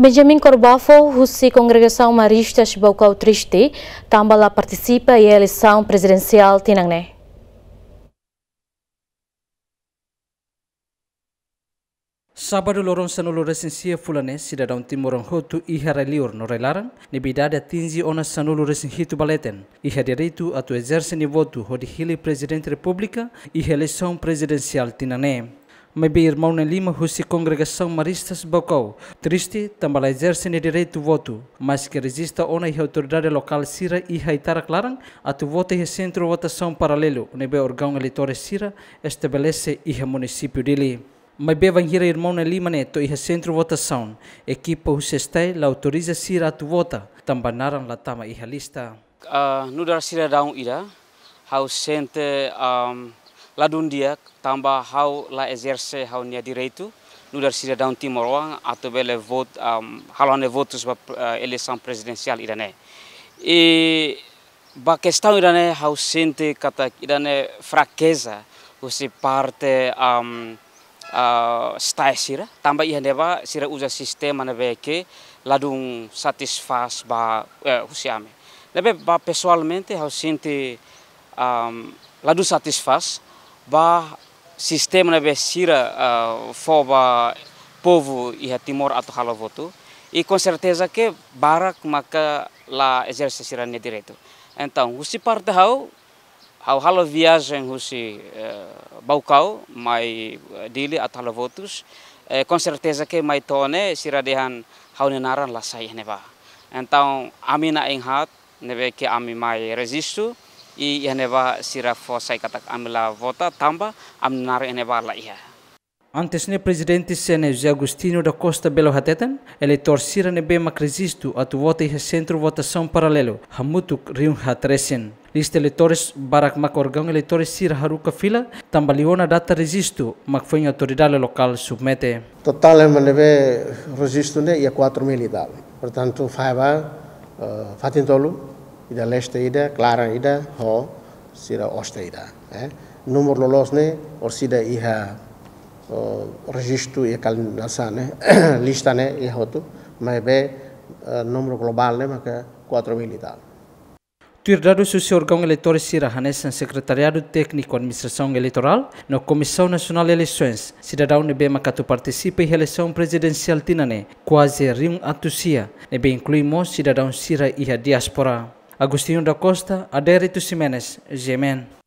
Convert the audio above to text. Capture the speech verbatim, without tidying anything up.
Benjamin Korbafo, husi Kongregasaun Maristas Baucau, triste tanba la partisipa iha eleisaun prezidensiál tinan ne'e. Sábadu loron sanulu-resin-sia fulan ne'e, sidadaun timoroan hotu iha rai-liur no rai-laran, ne'ebé idade atinje ona sanulu-resin-hitu ba leten, iha direitu atu ezerse nia votu hodi hili Prezidente Repúblika iha eleisaun prezidensiál tinan ne'e. Maibé irmaun na'in lima husi Kongregasaun Maristas Baucau triste tanba la ezerse nia direitu votu, maske rejista ona iha autoridade lokál sira iha Itarak Laran atu vota iha sentru votasaun paralelu ne'ebé órgaun eleitór sira estabelese iha munisípiu Dili. Maibé bainhira irmaun na'in lima ne'e to'o iha sentru votasaun, ekipa husi STAE la autoriza sira atu vota tanba naran la tama iha lista. Ah, nu'udar sidadaun ida, ha'u sente, am, ladún di'ak tanba ha'u la ezerse ha'u-nia direitu nu'udar sidadaun timoroan atu bele vot-, am, halo ha'u-nia votus ba, eh, eleisaun prezidensiál ida-ne'e. I ba kestaun ida-ne'e ha'u sente katak ida-ne'e frakeza husi parte, am, ah, STAE sira, tanba iha ne'ebá sira uza sistema ne'ebé ke ladún satisfás ba, eh, husi ami. Ne'ebé ba pesoalmente ha'u sente, am, ladún satisfás ba sistema ne'ebé sira, ah, fó ba povu iha Timor atu halo votu. I konserteza ke barak maka la ezerse sira-nia direitu. Entaun, husi parte ha'u, ha'u halo viajen husi, eh, Baucau mai, eh, Dili atu halo votus, eh, konserteza ke mai to'o ne'e sira dehan ha'u-nia naran la sai iha ne'ebá. Entaun, ami na'in-haat ne'ebé ke ami mai rejistu, i iha ne'ebá sira fó sai katak ami la vota tanba ami-nia naran iha ne'ebá la iha. Antes ne'e, Prezidente CNE José Agostinho da Costa Belo hateten, eleitór sira ne'ebé mak rejistu atu vota iha sentru votasaun paralelu hamutuk rihun haat resin. Lista eleitór barak mak órgaun eleitór sira haruka fila tanba liu ona data rejistu mak foin autoridade lokál submete. Totál ema ne'ebé rejistu ne'e iha quatro mil e tal. Portantu, fahe ba, eh, fatin tolu, ida leste ida, klaran ida, ho sira oste ida, eh. Númeru loloos ne'e, orsida iha, oh, rejistu iha kal-, nasa ne'e, lista ne'e iha hotu, maibé, eh, númeru globál ne'e maka quatro mil e tal. Tuir dadus husi órgaun eleitór sira hanesan Sekretariadu Tékniku Administrasaun Eleitorál no Komisaun Nasionál Eleisoens, sidadaun ne'ebé mak atu partisipa iha eleisaun prezidensiál tinan ne'e kuaze rihun atus sia, ne'ebé inklui mós sidadaun sira iha diáspora. Agostinho da Costa, Adérito Ximenes, GMN.